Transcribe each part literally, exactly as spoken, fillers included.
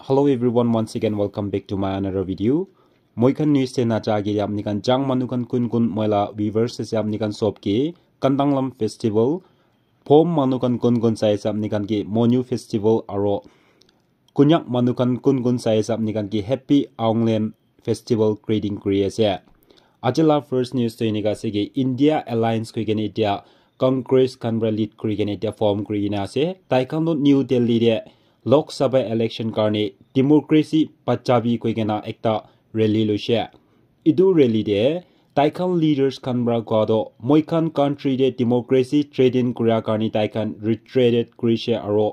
Hello everyone, once again welcome back to my another video. Moi khan news te naja age apni khan Chang manu khan kun kun moi la viewers ase apni khan sob ke Kandanglam festival, Phom manu khan kun kun sai ase apni khan ke Monyu festival aro Konyak manu khan kun kun sai ase apni khan ke happy Aonglem festival greeting kuri ase. Aji la first news to enika ase ki India Alliance koi kena etia Congress khan pra lead kuri kena etia form kuri kena ase. Tai khan toh New Delhi te Lok Sabha election karne democracy bachabi koi kena ekta rally loise. Etu rally te tai khan leaders khan pra koa toh moi khan country te democracy threaten kuria karne tai khan retreated kurise aro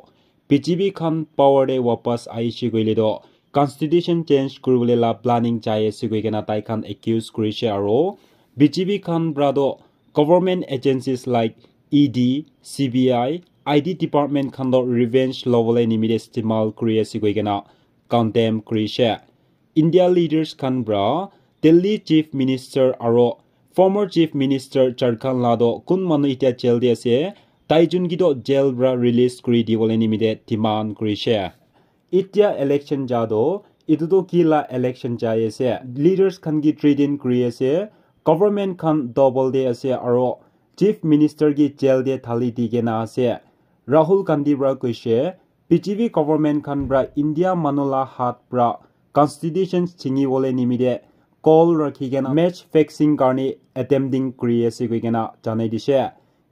B J P khan power te wapas ahishe koile toh constitution change kuribole la planning jai ase koi kena tai khan accuse kurise aro B J P khan pra toh government agencies like E D, C B I, I T department khan toh revenge lobole nimite istemal kuri ase koi kena condemn kurise. India leaders khan pra Delhi Chief Minister aro former Chief Minister Jharkhand la toh kun manu etia jail te ase, tai jun ki toh jail pra release kuri dibole nimite demand kurise. Etia election ja toh, etu toh ki la election jai ase? Leaders khan ki threaten kuri ase, government khan double de ase aro Chief Minister ki jail te thali di kena ase. Rahul Gandhi pra koise, B J P government khan pra India manu la hat pra constitution chingi bole nimite call rakhi kena match fixing karne attempting kuri ase koi kena janai dise.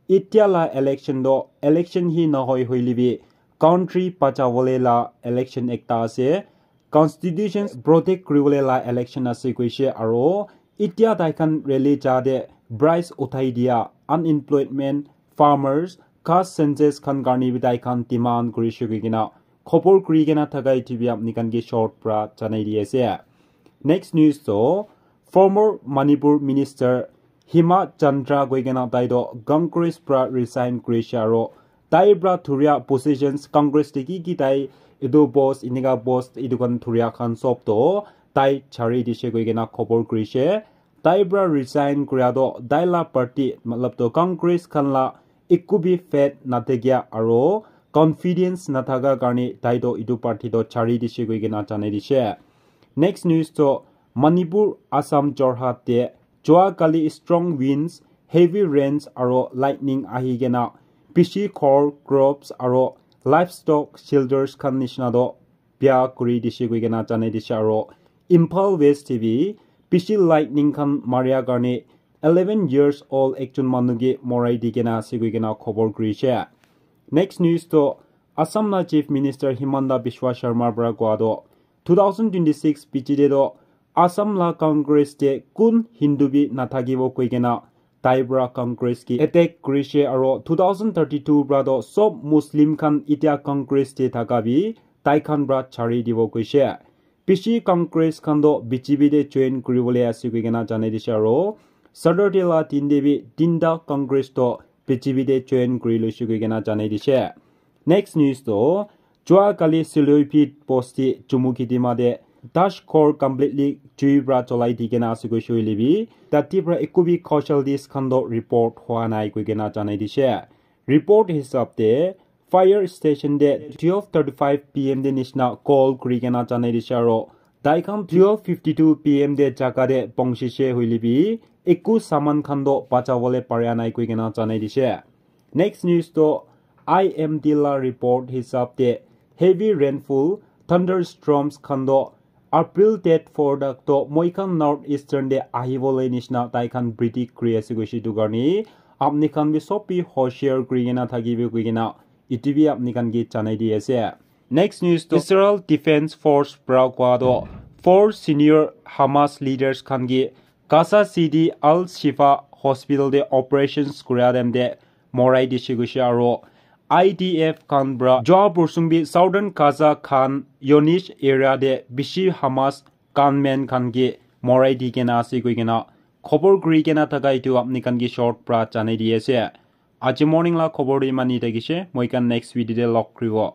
Etia la election toh election hi nahoi hoile bi country bachabole la election ekta ase. Constitution protect kuribole la election ase koise aro etia tai khan rally ja te price uthai dia unemployment, farmers, caste census khan karne bi tai khan demand kurise koi kena khobor kuri kena thaka etu bi apni khan ke short pra janai di ase. Next news toh former Manipur minister Hema Chandra koi kena tai toh Congress pra resign kurise aro tai pra thuria positions Congress te ki ki tai etu post enika post etu khan thuria khan sob toh tai chari dise koi kena khobor kurise. Tai pra resign kuria toh tai la party matlab toh Congress khan la eku bi faith nathakia aro confidence nathaka karne tai toh etu party toh chari dise koi kena janai dise. Next news toh Manipur, Assam, Jorhat te jua kali strong winds, heavy rains aro lightning ahi kena bishi ghor, crops aro livestock, shelters khan nishina toh bia kuri dise koi kena janai dise aro Imphal West te bi bishi lightning khan maria karne eleven years old ekjon manu ke morai di kena ase koi kena khobor kurise. Next news toh Assam la Chief Minister Himanta Biswa Sharma pra koa toh two thousand twenty-six piche te toh Assam la Congress te kun Hindu bi nathakibo koi kena tai pra Congress ki attack kurise aro two thousand thirty-two pra toh sob Muslim khan etia Congress te thaka bi tai khan pra chari dibo koise. Bishi Congress khan toh B J P te join kuribole ase koi kena janai dise aro Saturday la din te bi tinta Congress toh B J P te join kuri loise koi kena janai dise. Next news toh jua kali Siloipit bosti Chumukedima te dash ghor completely jui pra cholai di kena ase koise hoile bi tate pra eku bi casualties khan toh report hua nai koi kena janai dise. Report hisab te fire station te twelve thirty-five P M te nishina call kuri kena janai dise aro tai khan twelve fifty-two P M te jaga te pahunchise hoile bi eku saman khan toh bachabole paria nai koi kena janai dise. Next news toh I M D la report hisab te heavy rainfall, thunderstorms khan toh April date four tak toh moi khan North Eastern te ahibole nishina tai khan predict kuri ase koise etu karne apni khan bi sob bi hoshiar kuri kena thakibi koi kena etu bi apni khan ke janai di ase. Next news toh Israel Defense Force pra koa toh four senior Hamas leaders khan ke Gaza City Al Shifa Hospital te operations kuria time te morai dise koise aro I D F khan pra jua borsung bi Southern Gaza Khan Younis area te bishi Hamas gunmen khan ke morai di kena ase koi kena khobor kuri kena thaka etu apni khan ke short pra janai di ase. Aji morning la khobor tu iman hi thakise, moi khan next video te log kuribo.